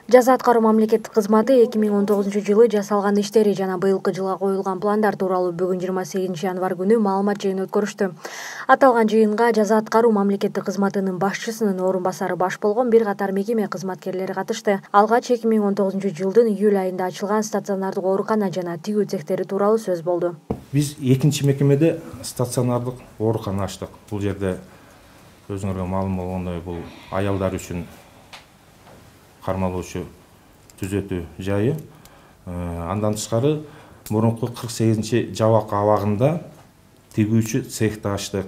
Жаза аткаруу мамлекеттик кызматы 2019-жылы жасалган иштери жана быйылкы жылга коюлган пландар тууралуу бүгүн 28 январь күнү маалымат жыйыны өткөрүштү. Аталган жыйынга жаза аткаруу мамлекеттик кызматынын башчысынын орун басары баш болгон бир катар мекеме кызматкерлери катышты. Алгач 2019-жылдын июль айында ачылган стационардык оорукана жана тигүү цехтери тууралуу сөз болду. Биз экинчи мекемеде стационардык оорукана ачтык. Бул жерде өзүңөргө маалым болгондой бул аялдар үчүн кармалуучу түзөтүү жайы. Андан тышкары мурунку 48-жабак абагында тигүүчү цехти ачтык.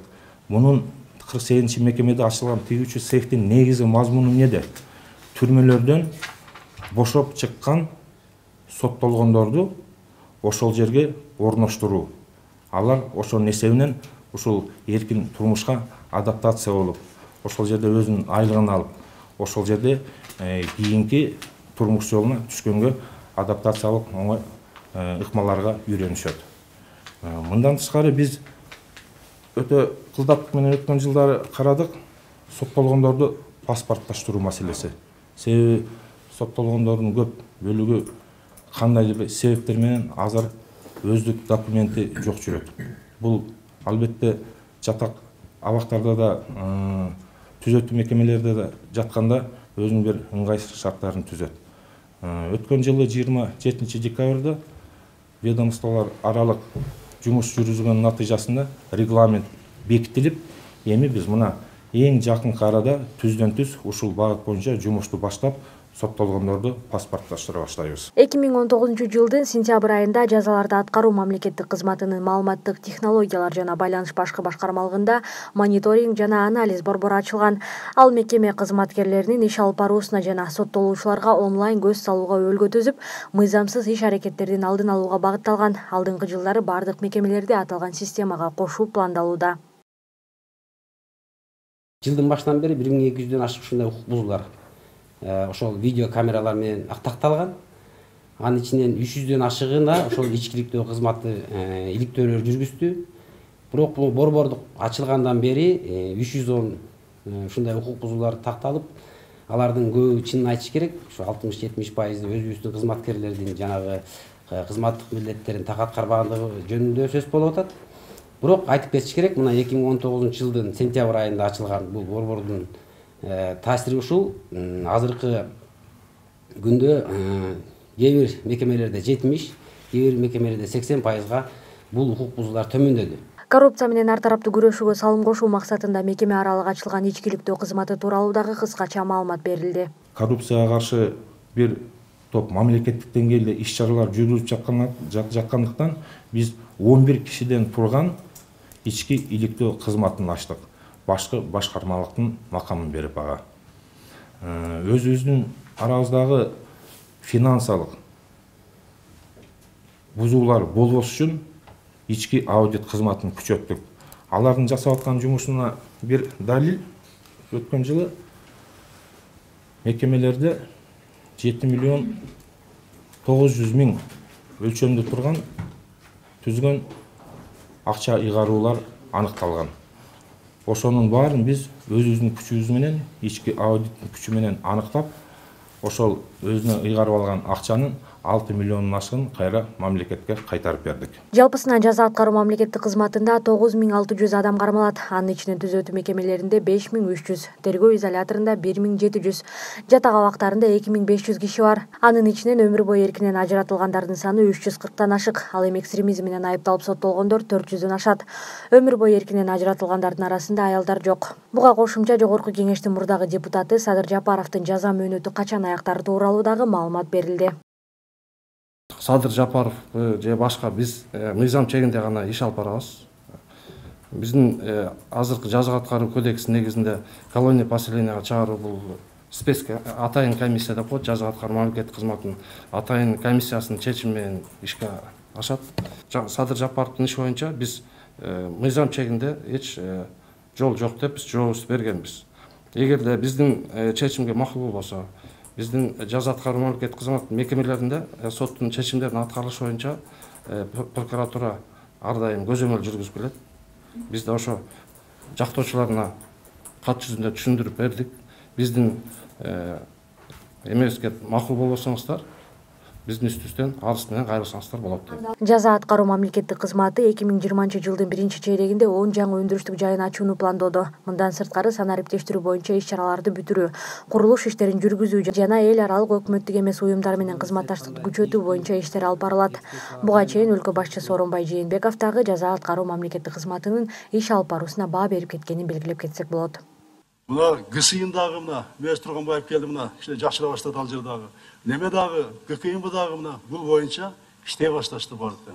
Мунун 48 мекемеде ачылган тигүүчү цехтин негизи мазмуну эмнеде? Түрмөлөрдөн бошоп чыккан соттолгондорду ошол жерге орноштуруу. Алар ошонун эсебинен ушул эркин турмушка адаптация болуп, ошол жерде өзүнүн айлыгын алып, ошол жерде кийинки турмуш жолуна түшкөнгө адаптациялык оңой ыкмаларга үйрөнүшөт. Мындан тышкары биз өтө кылдаттык менен өткөн жылдары карадык соттолгондорду паспортташтыруу маселеси. Себеби соттолгондордун көп бөлүгү кандайдыр бир себептер менен азыр өздүк документи жок жүрөт. Бул албетте жатак абактарда да түзөтүү мекемелерде да жатканда өзүнүн бир ыңгайсыз шарттарын түзөт. Өткөн жылы 27 декабрда ведомстволор аралык жумуш жүргүзгөн натыйжасында регламент бекитилип, эми биз мына эң жакынкы арада түздөн түз ушул багыт боюнча жумушту баштап соттолгондорду паспортташтыра баштайбыз. 2019-жылдын сентябрь айында жазаларды аткаруу мамлекеттик кызматынын маалыматтык технологиялар жана байланыш башкы башкармалыгында мониторинг жана анализ борбору ачылган. Ал мекеме кызматкерлеринин иш алып баруусуна жана соттолуучуларга онлайн көз салууга өлгө түзүп, мыйзамсыз иш аракеттердин алдын алууга багытталган. Алдыңкы жылдары бардык мекемелерди аталган системага кошуу пландалууда. Жылдын башынан бери 1200дөн ашык ушундай укук бузуулар ошол видео камералар менен актакталган. Анын ичинен 300дөн ашыгына ошол ичкиликтөө кызматы иликтөөлөр жүргүздү. Бирок бул борбордук ачылгандан бери 310 ушундай укук бузуулар такталып, алардын көбү чынын айтыш керек, ошо 60-70% өзүбүздүн кызматкерлердин жанагы кызматтык милдеттерин так аткарбагандыгы жөнүндө сөз болуп атат. Бирок айтып кетиш керек, мына 2019-жылдын сентябрь айында ачылган бул борбордун таасири ушул. Азыркы күндө кээ бир мекемелерде 70, кээ бир мекемелерде 80%га бул укук бузуулар төмөндөдү. Коррупция менен ар тараптуу күрөшүүгө салым кошуу максатында мекеме аралык ачылган ичкиликтөө кызматы тууралуу дагы кыскача маалымат берилди. Коррупцияга каршы бир топ мамлекеттик деңгээлде иш-чаралар жүргүзүлүп жаткандыктан биз 11 кишиден турган ички иликтөө кызматын ачтык. Башкы башкармалыктын макамын берип ага. Өзүбүздүн арабыздагы финансылык бузуулар болбош үчүн ички аудит кызматын күчөттүк. Алардын жасап аткан жумушуна бир далил өткөн жылы мекемелерде 7 миллион 900 миң өлчөмдө турган түзгөн акча ыйгаруулар аныкталган. Ошонун баарын биз өзүбүздүн күчүбүз менен, ички аудиттин күчү менен аныктап, ошол өзүнө ыйгарып алган акчанын 6 миллиондун ашыгын кайра мамлекетке кайтарып бердик. Жалпысынан жаза аткаруу мамлекеттик кызматында 9600 адам кармалат. Анын ичинен түзөтүү мекемелеринде 5300, тергөө изоляторунда 1700, жатак абактарында 2500 киши бар. Анын ичинен өмүр бою эркинен ажыратылгандардын саны 340-тан ашык. Ал эми экстремизм менен айыпталып соттолгондор 400дөн ашат. Өмүр бою эркинен ажыратылгандардын арасында аялдар жок. Буга кошумча Жогорку Кеңештин мурдагы депутаты Садыр Жапаровдун жаза мөөнөтү качан аяктары тууралуу дагы маалымат берилди. Садыр Жапаров же башка биз мыйзам чегинде гана иш алып барабыз. Биздин азыркы жаза аткаруу кодекси негизинде колония поселенияга чыгаруу бул спец атайын комиссия деп коет, жаза аткаруу мамлекеттик кызматынын атайын комиссиясынын чечими менен ишке ашат. Садыр Жапаровдун иши боюнча биз мыйзам чегинде эч жол жок деп биз жообубузду бергенбиз. Эгерде биздин чечимге макул болбосо, биздин жаза аткаруу мамлекеттик кызмат мекемелеринде соттун чечимдеринин аткарылышы боюнча прокуратура ар дайым көзөмөл жүргүзүп келет. Биз да ошо жактоочуларына кат жүзүндө түшүндүрүп бердик. Биздин эмебизге макул болбосоңуздар биздин үстүбүздөн арыз менен кайрылсаңыздар болот дейм. Жаза аткаруу мамлекеттик кызматы 2020 биринчи чейрегинде 10 жаңы өндүрүштүк жайын ачууну пландоодо. Мындан сырткары санариптештирүү боюнча иш-чараларды бүтүрүү, курулуш иштерин жүргүзүү жана эл аралык өкмөттүк эмес уюмдар менен кызматташтыкты күчөтүү боюнча иштер алып барылат. Буга чейин өлкө башчысы Сооронбай Жээнбеков дагы жаза аткаруу мамлекеттик кызматынын иш алып баруусуна баа берип кеткенин белгилеп кетсек болот. Мына ГСИН дагы мына Мез Турганбаев келди, мына кичине жакшыра баштады ал жер дагы. Неме дагы ГКМ дагы мына бул боюнча иштей башташты бардык.